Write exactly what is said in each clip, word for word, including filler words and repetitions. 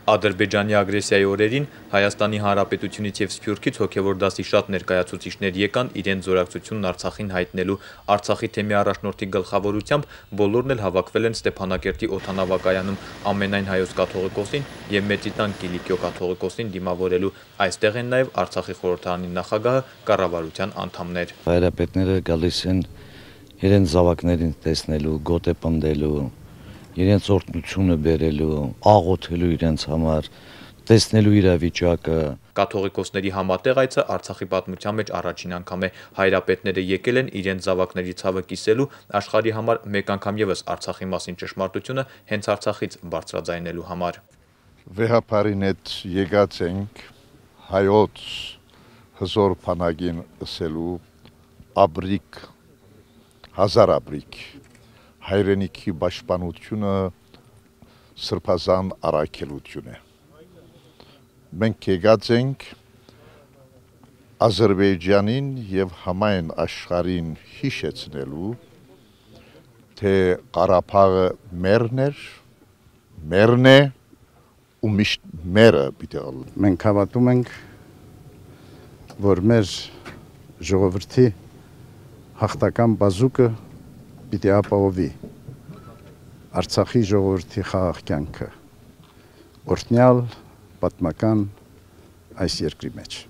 Ադրբեջանի ագրեսիայի օրերին Հայաստանի Հանրապետությունից և Սփյուռքից հոգևոր դասի շատ ներկայացուցիչներ եկան իրենց զորակցությունն Արցախին հայտնելու։ Արցախի թեմի առաջնորդի գլխավորությամբ բոլորն էլ հավաքվել են Ստեփանակերտի օդանավակայանում ամենայն հայոց կաթողիկոսին և Մեծիտան Կիլիկիո կաթողիկոսին դիմավորելու։ Այստեղ են նաև Արցախի խորհրդարանի նախագահը, կառավարության անդամներ։ Հայրապետները գալիս են իրենց զավակներին տեսնելու, գոթե պնդելու, իրենց օրհնությունը բերելու, աղոթելու իրենց համար, տեսնելու իրավիճակը։ Կաթողիկոսների համատեղ այցը Արցախի պատմության մեջ առաջին անգամ է։ Հայրապետները եկել են իրենց զավակների ցավը կիսելու, աշխարհի համար մեկ անգամ ևս Արցախի մասին ճշմարտությունը հենց Արցախից բարձրաձայնելու համար։ Վեհապարին հետ եկած ենք հայոց հզոր բանակին ասելու աբրիկ, հազար աբրիկ, հայրենիքի պաշտպանությունը սրբազան առաքելություն է։ Մենք եկած ենք Ադրբեջանին և համայն աշխարհին հիշեցնելու, թե Ղարաբաղը մերն էր, մերն է ու միշտ մերը պիտի ալու։ Մենք հավատում ենք, որ մեր ժողովրդի հաղթական բազուկը պիտի ապահովի Արցախի ժողովրդի խաղաղ կյանքը, օրհնյալ պատմական այս երկրի մեջ։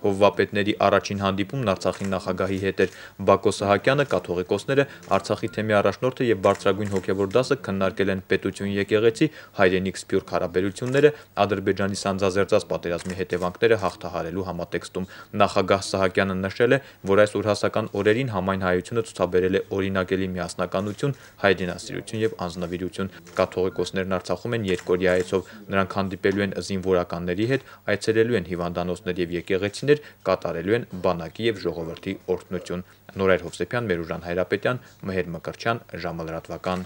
Հովվապետների առաջին հանդիպումն Արցախի նախագահի հետ էր։ Բակո Սահակյանը, կաթողիկոսները, Արցախի թեմի առաջնորդը և բարձրագույն հոգևոր դասը քննարկել են պետություն եկեղեցի, հայրենիք-սփյուռք հարաբերությունները, Ադրբեջանի սանձազերծած պատերազմի հետևանքները հաղթահարելու համատեքստում։ Նախագահ Սահակյանը նշել է, որ այս ուրհասական օրերին համայն հայությունը ցուցաբերել է օրինակելի միասնականություն, հայրենասիրություն և անձնվիրություն։ Կաթողիկոսներն Արցախում են երկօրյա այցով։ Նրանք հանդիպելու են զինվորականների հետ, այցելելու են հիվանդանոցներ և եկեղեցիներ, կատարելու են բանակի և ժողովրդի օրհնություն։ Նորայր Հովսեփյան, Մերուժան Հայրապետյան, Մհեր Մկրտչյան, ժամը լրատվական։